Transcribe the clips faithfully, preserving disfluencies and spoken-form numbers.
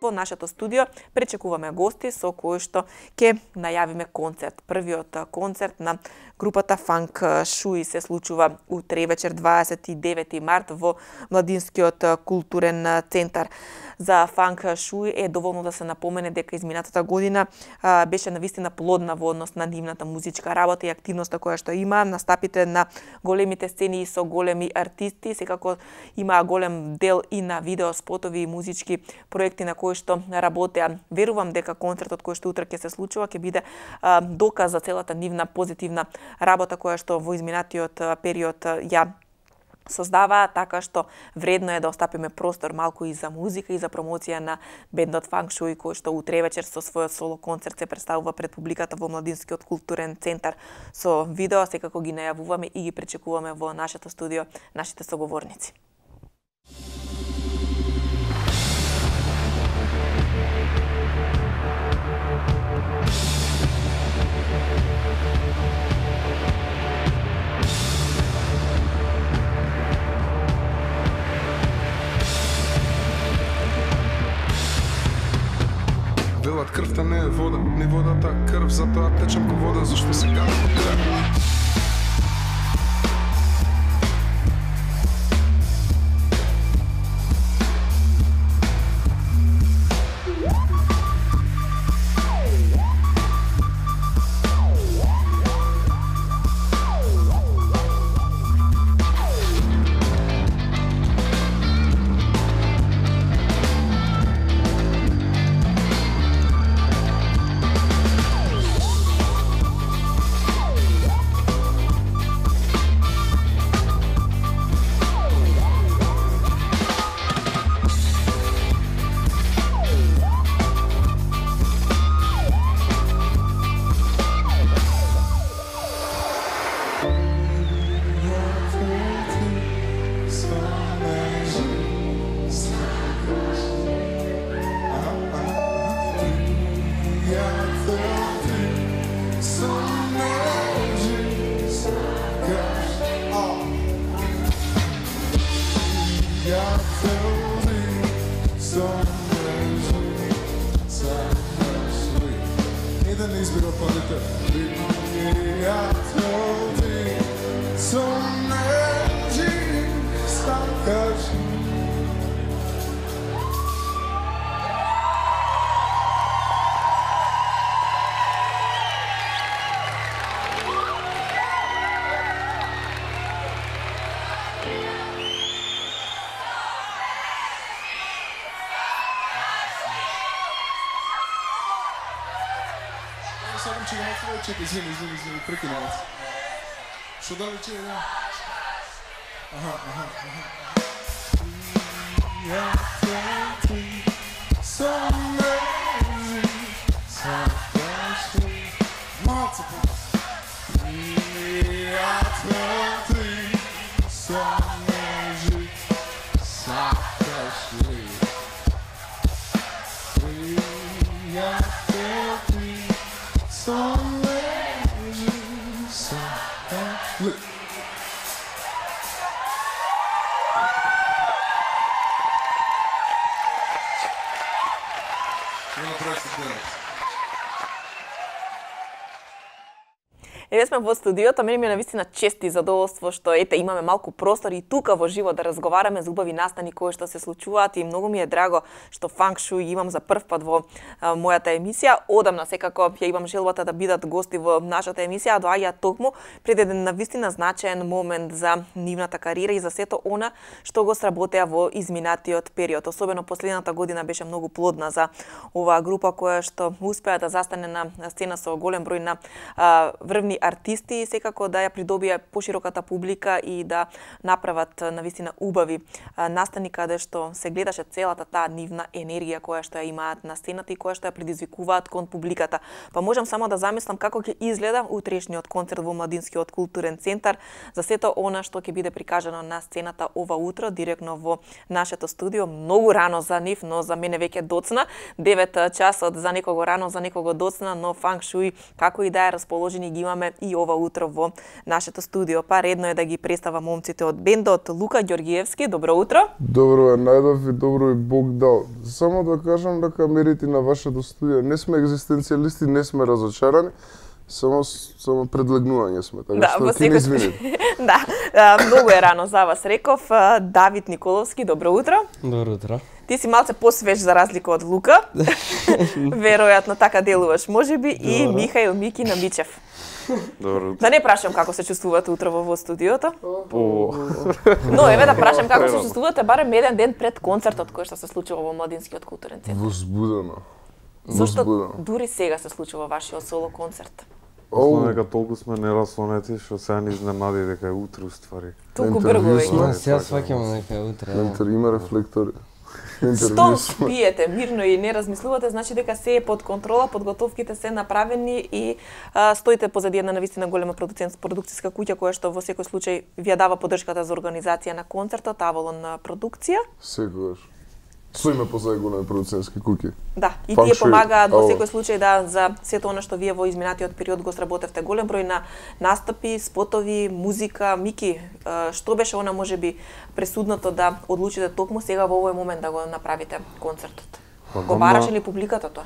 во нашето студио пречекуваме гости со кои што ќе најавиме концерт. Првиот концерт на групата Фанк Шуи се случува утре вечер дваесет и девети март во Младинскиот културен центар. За Фанк Шуи е доволно да се напомене дека изминатата година а, беше навистина плодна во однос на нивната музичка работа и активноста која што има, настапите на големите сцени со големи артисти, секако има голем дел и на видео спотови и музички проекти на кои што работеа. Верувам дека концертот кој што утре ќе се случува ќе биде а, доказ за целата нивна позитивна работа која што во изминатиот период ја создава, така што вредно е да остапиме простор малку и за музика и за промоција на бендот Фанк Шуи кој што утре вечер со својот соло концерт се представува пред публиката во Младинскиот културен центар. Со видео секако ги најавуваме и ги пречекуваме во нашето студио нашите соговорници. Велат крвта не е вода, ни водата крв, затоа течам ко вода, зашто се кара по крв. Чекай, извини, извини, извини, прекинам вас. Шо далече е, да? Аха, аха, аха. Я те со мрежи сакаш ли? Малце по-бас. Я те со мрежи сакаш ли? Я те со Look. Еве сме во студиото, мене ми е навистина чест и задоволство што ете имаме малку простор и тука во живо да разговараме за убави настани кои што се случуваат и многу ми е драго што Фанк Шуи имам за прв пат во а, мојата емисија. Одамна секако ја имам желбата да бидат гости во нашата емисија, а доаѓа токму пред еден навистина значаен момент за нивната кариера и за сето она што го сработеа во изминатиот период. Особено последната година беше многу плодна за оваа група која што успеа да застане на сцена со голем број на а, врвни артисти и секако да ја придобија пошироката публика и да направат навистина убави настани каде што се гледаше целата таа нивна енергија која што ја имаат на сцената и која што ја предизвикуваат кон публиката. Па можам само да замислам како ќе изгледа утрешниот концерт во Младинскиот културен центар за сето она што ќе биде прикажано на сцената ова утро директно во нашето студио. Многу рано за нив, но за мене веќе доцна. девет часот за некого рано, за некого доцна, но Фанк Шуи како и да е расположени ги имаме и ова утро во нашето студио. Па редно е да ги представам момците од бендот. Лука Ѓоргиевски, добро утро. Добро е, најдов и добро и Бог дал. Само да кажам дека мерите на вашето студио не сме екзистенцијалисти, не сме разочарани. Само само предлегнување сме, така да, што ќе не извините. Да, а, многу е рано за вас, реков. Давид Николовски, добро утро. Добро утро. Ти си малце посвеж за разлика од Лука. Веројатно така делуваш, можеби, и Михаил Мики Намичев. Добро утро. Да не прашам како се чувствувате утрово во студиото. По... Но еве да прашам како се чувствувате барем еден ден пред концертот кој што се случува во Младинскиот културен центар. Возбудено. Зошто дури сега се случува вашиот соло концерт? Оу, дека толку сме нераслонети што сега ни изненади дека е утре уствари. Толку брзо Но е. сега сваќаме дека е утре. Интер има рефлектори. Што пиете мирно и не размислувате, значи дека се е под контрола, подготовките се направени и а, стоите позади една навистина голема продукцијска куќа која што во секој случај ви ја дава поддршката за организација на концертот, Авалон продукција. Секогаш. Стоиме позади големи продуцентски куќи. Да, и Фанк тие шоу, помагаат во ало. секој случај да за сето она што вие во изминатиот период го сработевте голем број на настапи, спотови, музика. Мики, а, што беше она можеби пресудното да одлучите токму сега во овој момент да го направите концертот? Па, Го гамна- бараше ли публиката тоа?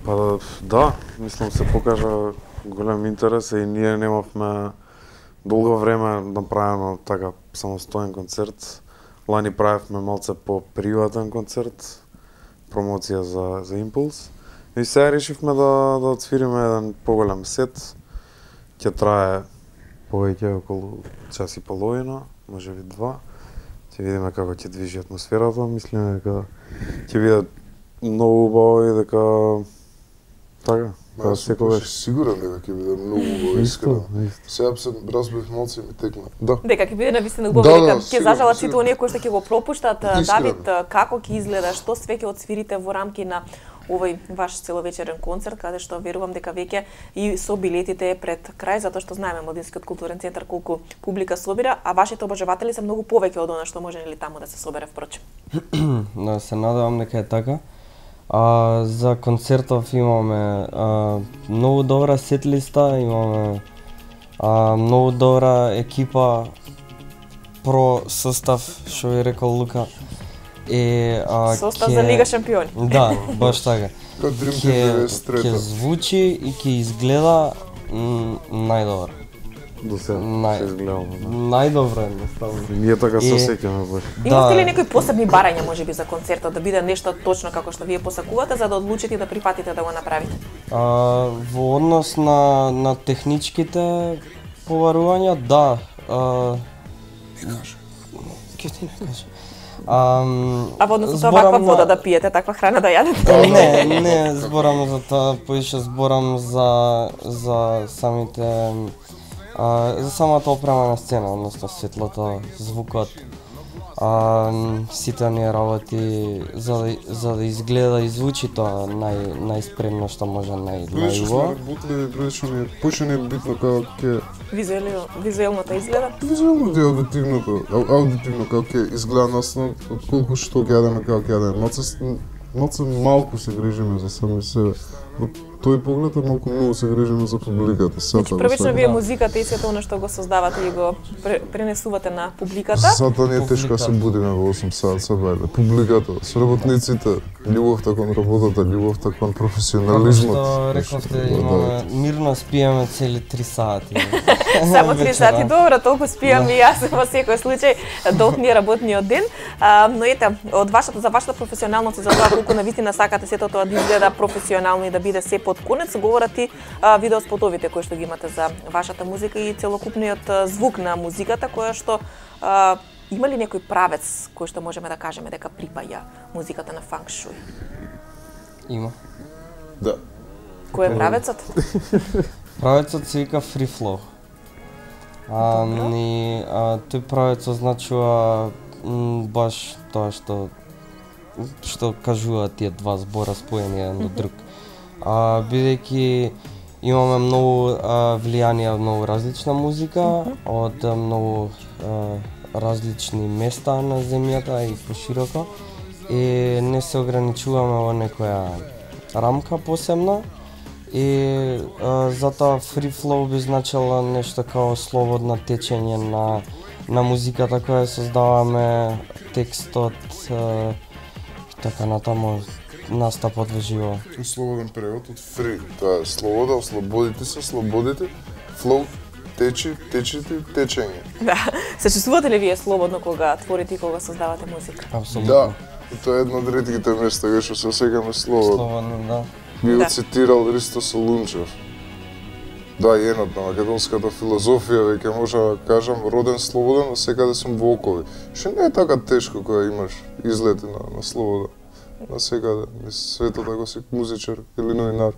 Па да, мислам се покажа голем интерес и ние немавме долго време направено така самостоен концерт. Лани правевме малце по приватен концерт, промоција за за Импулс. И сега решивме да да отсвириме еден поголем сет. Ќе трае повеќе околу час и половина, можеби два. Ќе видиме како ќе движи атмосферата, мислиме дека ќе биде многу убаво и дека така, како Јас сум секогаш. сигурен дека ќе биде многу убаво, искрено. Сега се разбив малце и ми текна. Да. Дека ќе биде навистина Да, убаво, да, дека ќе сигурно, зажалат сите сигурно. оние кои што ќе го пропуштат. Искрено. Давид, како ќе изгледа, што све ќе отсвирите во рамки на овој ваш целовечерен концерт, каде што верувам дека веќе и со билетите е пред крај, затоа што знаеме Младинскиот културен центар колку публика собира, а вашите обожаватели се многу повеќе од она што може ли таму да се собере впрочем. Да, се надевам дека е така. А, за концертов имаме а, многу добра сетлиста, имаме а, многу добра екипа, про состав, што ви рекол Лука. И, а, Состав ќе- за Лига шампиони. Да, баш така. Кај Dream Ќе Team ќе деветдесет и трета. звучи и ќе изгледа м, најдобро. До сега Нај- се изгледало. Да. Најдобро едноставно. И ние така се И- сеќаме баш. Имате ли некои посебни барања можеби за концертот, да биде нешто точно како што вие посакувате за да одлучите и да прифатите да го направите? А, во однос на, на техничките побарувања, да. А, Ке ти не кажа. Ам, А во однос на тоа зборам каква на- вода да пиете, таква храна да јадете? Не, не зборам за тоа, поише зборам за за самите а, за самата опрема на сцена, односно светлото, звукот. А, сите оние работи за да, за да изгледа и звучи тоа нај најспремно што може, нај Прилично сме најубаво. работили, прилично ни е, поише не е битно како ќе Визуелно, визуелното изгледа. визуелно и аудитивното, ау- аудитивно како ќе изгледа насно, отколку што ќе јадеме како ќе јадеме. Малце, с- малце малку се грижиме за сами себе. Во тој поглед е малку многу се грижиме за публиката. Значи, Сата, првично вие да. музиката и сето она што го создавате и го пре- пренесувате на публиката. Сата не е тешко да се будиме во осум саат се бајле. Публиката, со работниците, љубовта кон работата, љубовта кон Како професионализмот. што рековте, Да, имаме мирно спиеме цели три сати. Само три Вечера. сати, добро, толку спијам и јас во секој случај долг ми е работниот ден. А, но ете, од вашата за вашата професионалност и за тоа колку навистина сакате сето тоа да изгледа професионално и да биде се под конец, говорат и а, видеоспотовите кои што ги имате за вашата музика и целокупниот а, звук на музиката која што а, има ли некој правец кој што можеме да кажеме дека припаја музиката на фанк шуј? Има. Да. Кој е правецот? Правецот се вика Free Flow. А, ни, а, тој правец означува м, баш тоа што што кажуваат тие два збора споени еден до друг. А, бидејќи имаме многу а, влијание од многу различна музика, од а, многу а, различни места на земјата и пошироко, и не се ограничуваме во некоја рамка посебна, И а, затоа free flow би значило нешто као слободно течење на на музиката која создаваме, текстот а, и така натаму настапот во живо. Слободен превод од free, тоа е слобода, ослободите се, слободите, flow, течи, течите, течење. Да. Се чувствувате ли вие слободно кога творите и кога создавате музика? Апсолутно. Да, и тоа е едно од ретките места кај што се осеќаме слободно. Слободно, да. Би Да. го цитирал Ристо Солунчев. Да, енот на македонската филозофија, веќе може да кажам, роден слободен, а секаде сум во окови. Што не е така тешко кога имаш излети на, на слобода. На секаде, низ светот ако си музичар или новинар.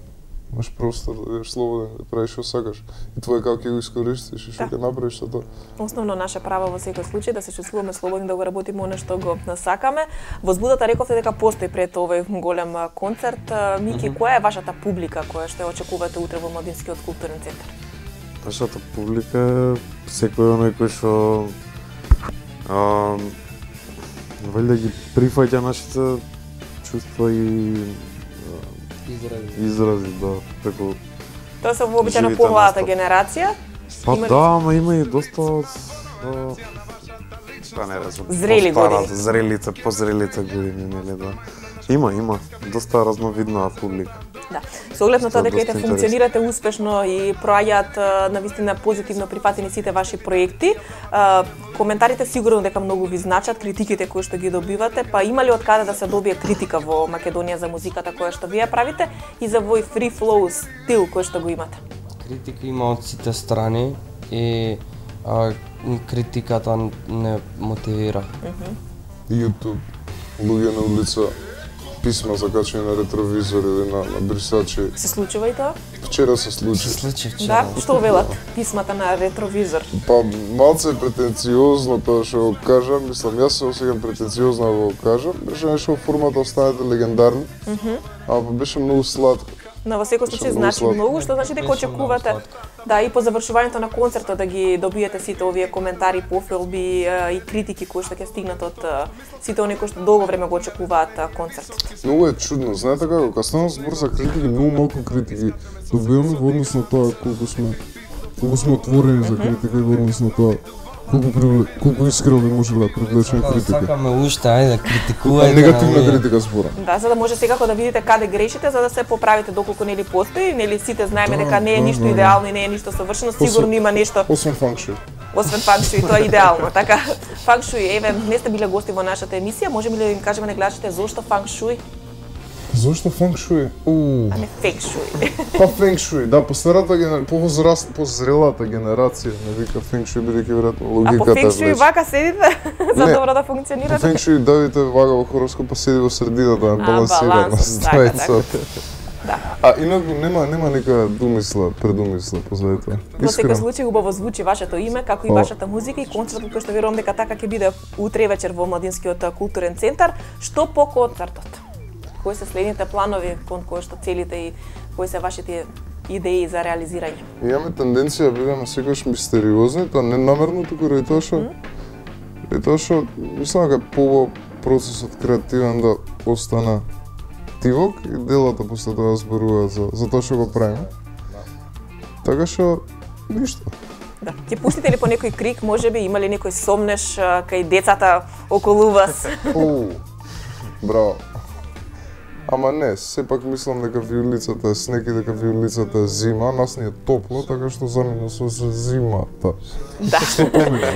Имаш простор да бидеш слободен, да правиш што сакаш. И твој како ќе го искористиш и што Да. ќе направиш со тоа. Основно наше право во секој случај да се чувствуваме слободни да го работиме она што го насакаме. Во збудата рековте дека постои пред овој голем а, концерт. А, Мики, која е вашата публика која што ја очекувате утре во Младинскиот културен центар? Нашата публика е секој оној кој што а, валјда ги прифаќа нашите чувства и Изрази. изрази, да, преку Тоа се вообичаено Живите помладата настап. генерација. Па Има ли- да, ама има и доста од а, па не знам, Зрели по-старата, години. зрелите, позрелите години, нели да. Има, има доста разновидна публика. Да. Со оглед на тоа Тоа дека доста ете интересно. функционирате успешно и проаѓаат а, навистина позитивно прифатени сите ваши проекти, а, коментарите сигурно дека многу ви значат, критиките кои што ги добивате, па има ли од каде да се добие критика во Македонија за музиката која што вие правите и за овој free flow стил кој што го имате? Критика има од сите страни и а, критиката не мотивира. YouTube, луѓе на улица, писма закачени на ретровизор или на, на брисачи. Се случува и тоа? Вчера се случи. Се случи вчера. Да, што велат писмата на ретровизор? Па малце претенциозно тоа што го кажам, мислам, јас се осеќам претенциозно да го кажам, беше нешто во формата останете легендарни, mm -hmm. а па беше многу сладко. Но во секој случај Многу значи сладко. многу, што значи дека Беше очекувате многу сладко. да и по завршувањето на концертот да ги добиете сите овие коментари, пофилби е, и критики кои што ќе стигнат од е, сите оние кои што долго време го очекуваат е, концертот. Многу е чудно, знаете како, кога станува збор за критики, многу малку критики добиваме во однос на тоа колку сме колку сме отворени за критика и во однос на тоа колку привле, колку искрено би можеле да привлечеме Да, критика. сакаме уште, ајде, А критикувајте. негативна ама критика збора. Да, за да може секако да видите каде грешите, за да се поправите доколку нели постои, нели сите знаеме Да, дека не е да, ништо да, да. идеално и не е ништо совршено, сигурно има нешто Освен фанкшуи. освен фанкшуи, тоа е идеално, така. Фанкшуи, еве, не сте биле гости во нашата емисија, можеме ли да им кажеме на гледачите зошто фанкшуи, Зошто фанкшуи? Уу. а не фекшуи? Па фенкшуи, да, по старата генерација, по возраст, по зрелата генерација, не вика фенкшуи бидејќи веројатно А по логиката фекшуи влече. вака седите за Не. добро да По функционирате? фенкшуи Давите вага во хороскопа седи во средината, е балансирана баланс, така, стојца. Да. А инаку нема нема нека думисла, предумисла позади тоа. Во секој Искрено. случај убаво звучи вашето име, како и О. вашата музика и концертот кој што верувам дека така ќе биде утре вечер во Младинскиот културен центар. Што по концертот? Кои се следните планови кон кои што целите и кои се вашите идеи за реализирање? Имаме тенденција да бидеме секогаш мистериозни, тоа не намерно, туку ради тоа што ради тоа што мислам дека по процесот креативен да остана тивок и делата после тоа зборуваат за за тоа што го правиме. Така што ништо. Да. Ќе пуштите ли по некој крик, можеби има ли некој сомнеш а, кај децата околу вас? Оу. Браво. Ама не, сепак мислам дека виолицата е снег и дека виолицата е зима, нас ни е топло, така што замина со се зимата. Да.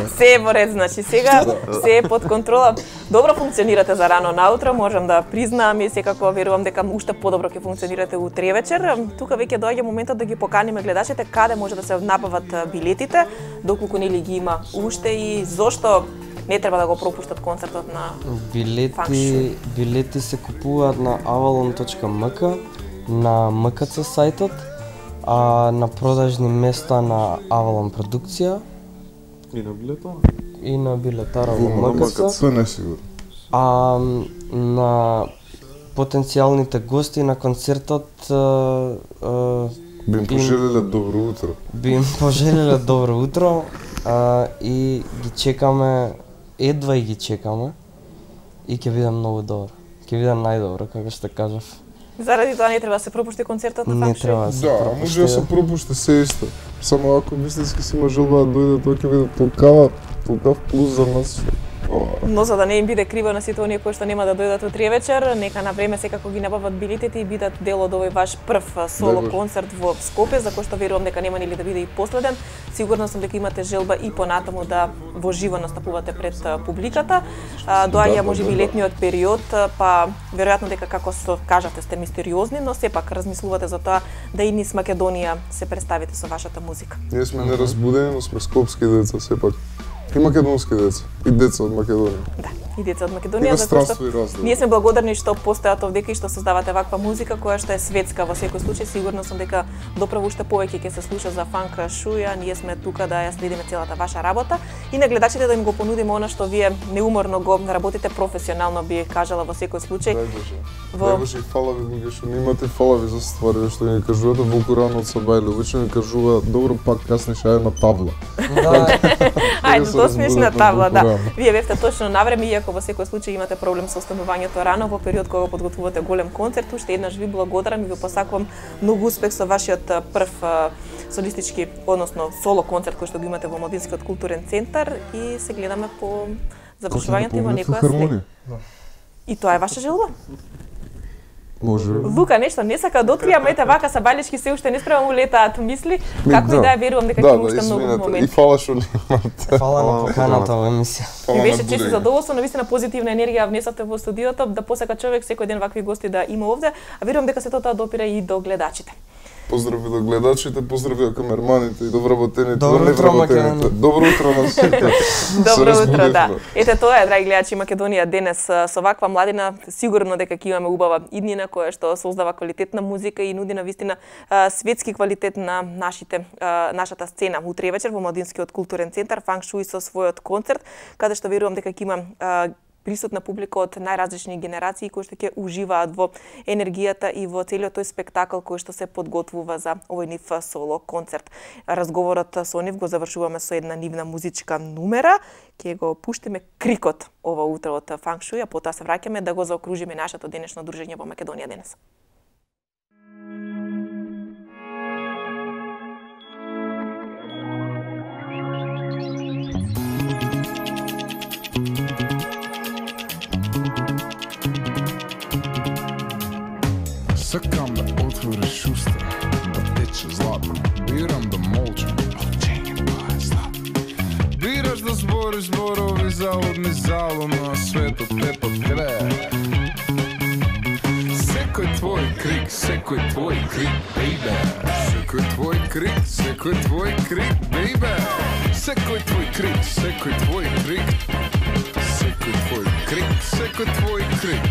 Се е во ред, значи сега се е под контрола. Добро функционирате за рано наутро, можам да признаам и секако верувам дека уште подобро ќе функционирате утре вечер. Тука веќе доаѓа моментот да ги поканиме гледачите каде може да се набават билетите, доколку нели ги има уште и зошто не треба да го пропуштат концертот на Билети, Фанкшуи. билети се купуваат на avalon точка ем ка, на ем ка це сајтот, а на продажни места на Avalon продукција И на билета? и на билетара Во во ем ка це. Тоа не е сигурно. А на потенцијалните гости на концертот а, а, Би им пожелеле добро утро. би им пожелеле добро утро а, и ги чекаме, едва и ги чекаме и ќе биде многу добро. Ќе биде најдобро, како што кажав. Заради тоа не треба да се пропушти концертот на Не Фанк Шуи? треба да се Да, пропушти. може да се пропушти се исто. Само ако вистински си има желба да дојде, тоа ќе биде толкава, толкав плюс за нас. Но за да не им биде криво на сите оние кои што нема да дојдат утре вечер, нека на време секако ги набават билетите и бидат дел од овој ваш прв соло Боже. концерт во Скопје, за кој што верувам дека нема нели да биде и последен. Сигурна сум дека имате желба и понатаму да во живо настапувате пред а, публиката. А, Доаѓа Да, можеби да, да. летниот период, а, па веројатно дека како што кажате сте мистериозни, но сепак размислувате за тоа да и низ Македонија се представите со вашата музика. Ние сме неразбудени, но сме скопски деца сепак. И македонски деца, и деца од Македонија. Да, и деца од Македонија, Има за кои странство и што раздел. ние сме благодарни што постојат овдека и што создавате ваква музика која што е светска во секој случај. Сигурно сум дека доправо уште повеќе ќе се слуша за Фанк Шуи, а ние сме тука да ја следиме целата ваша работа и на гледачите да им го понудиме она што вие неуморно го работите професионално, би кажала во секој случај. Дај Боже. Во- Дај Боже и фала ви луѓе што немате фала ви за ствари што ни кажувате Волку рано од Сабајле. Обично ни кажува добро пак каснеш ај на табла. Да, Ајде, се до смешна разбудат на табла, да. Волку рано. Вие бевте точно на време, иако во секој случај имате проблем со останувањето рано во период кога подготвувате голем концерт. Уште еднаш ви благодарам и ви посакувам многу успех со вашиот а, прв а, солистички, односно соло концерт кој што го имате во Младинскиот културен центар и се гледаме по завршувањето има некоја след. И тоа е ваша желба? Може. Лука, нешто не сака да откријам, ете вака Сабајлешки се уште не спрема му летаат мисли, Ми, како и да. да ја верувам дека Да, ќе има да, уште многу извинете. И моменти. фала што немате. фала на Фала на поканата во емисија. Фала Ми на беше чест и будење. задоволство, навистина позитивна енергија внесовте во студиото, да посака човек секој ден вакви гости да има овде, а верувам дека сето тоа допира и до гледачите. Поздрави до гледачите, поздрави до камерманите и до вработените, Добро до утро, невработените. Македонија. Добро утро на сите. Добро Се утро, да. разбудивме. Ете тоа е, драги гледачи, Македонија денес а, со ваква младина, сигурно дека ќе имаме убава иднина која што создава квалитетна музика и нуди на вистина а, светски квалитет на нашите а, нашата сцена. Утре вечер во Младинскиот културен центар Фанк Шуи со својот концерт, каде што верувам дека ќе има а, присутна публика од најразлични генерации кои што ќе уживаат во енергијата и во целиот тој спектакл кој што се подготвува за овој нив соло концерт. Разговорот со нив го завршуваме со една нивна музичка numera, ќе го пуштиме крикот ова утро од Фанк Шуи, а потоа се враќаме да го заокружиме нашето денешно дружење во Македонија денес. Сакам да отвориш уста, да тече златно. Бирам да молчам, молчење тоа е златно. Бираш да збориш зборови залудни залудно, а светот те подгрее. Секој твој крик, секој твој крик, бейбе. Секој твој крик, секој твој крик, бейбе. Секој твој крик, секој твој крик. Секој твој крик, секој твој крик.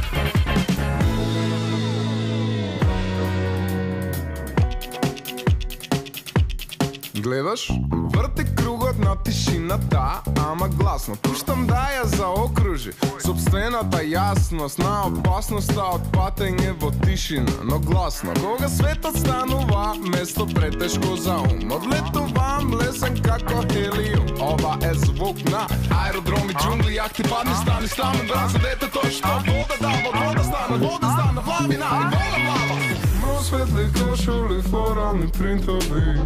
Гледаш, врти кругот на тишината, ама гласно. Пуштам да ја заокружи собствената јасност на опасноста од патење во тишина, но гласно. Кога светот станува место претешко за ум, одлетувам лесен како хелиум. Ова е звук на аеродроми, џунгли, јахти, падни, стани, стани, брат, за детето што вода дава, вода стана, вода стана, вламина и вода плава. Просветли кошули, флорални принтови,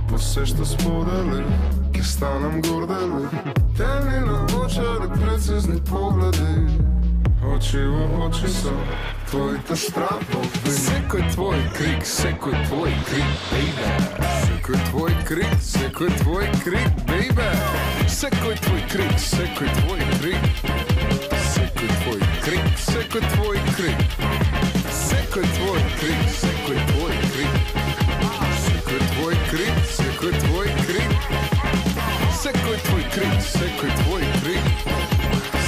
посешта сподели, ке станам гордели. Темни на очари, прецизни погледи, очи во очи со твоите страхови. Секој твој крик, секој твој крик, бейбе. Секој твој крик, секој твој крик, бейбе. Секој твој крик, секој твој крик. Секој твој крик, секој твој крик. Секој твој крик, секој твој крик. Секој твој крик, секој твој крик. Секој твој крик, секој твој крик.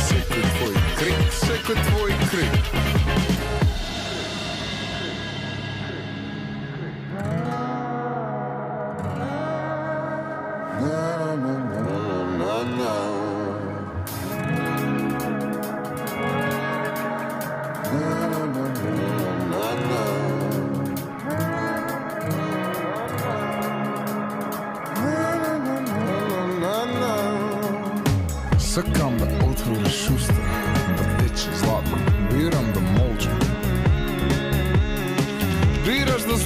Секој твој крик, секој твој крик. Сакам да отвориш уста, да тече златно, бирам да молчам.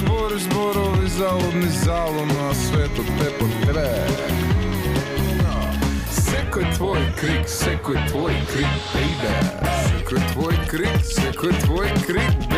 збориш зборови залудни залу на светот те потреб. Секој твој крик, секој твој крик, baby. Секој твој крик, секој твој крик,